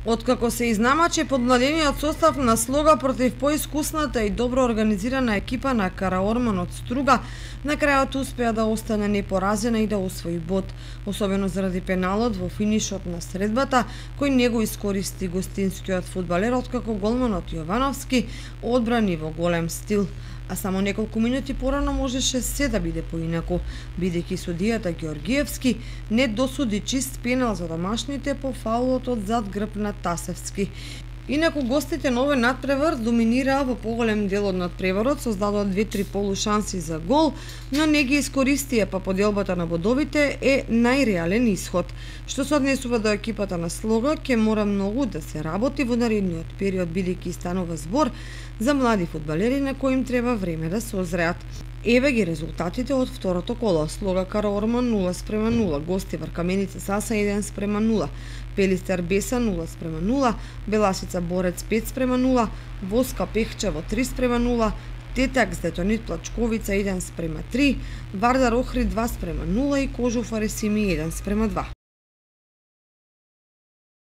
Откако се изнамачи подмладениот состав на Слога против поискусната и добро организирана екипа на Караорман од Струга, на крајот успеа да остане непоразена и да освои бод, особено заради пеналот во финишот на средбата, кој не го искористи гостинскиот фудбалер, откако голманот Јовановски одбрани во голем стил. А само неколку минути порано можеше се да биде поинаку, бидејќи судијата Ѓоргиевски не досуди чист пенал за домашните по фаулот од зад грб на Тасевски. Инаку гостите на овој надпревар доминираа во поголем дел од надпреварот, создадоа 2-3 полушанси за гол, но не ги искористија, па поделбата на бодовите е најреален исход. Што се однесува до екипата на Слога, ќе мора многу да се работи во наредниот период, бидејќи станува збор за млади фудбалери на кои им треба време да се озреат. Еве ги резултатите од второто коло. Слога Караорман 0:0, гости Вркаменица Саса 1:0, Пелистер Беса 0:0, Беласица Борец 5:0, Воска Пехчево 3:0, Тетак Здетонит Плачковица 1:3, Вардар Охрид 2:0 и Кожуф Аресими 1:2.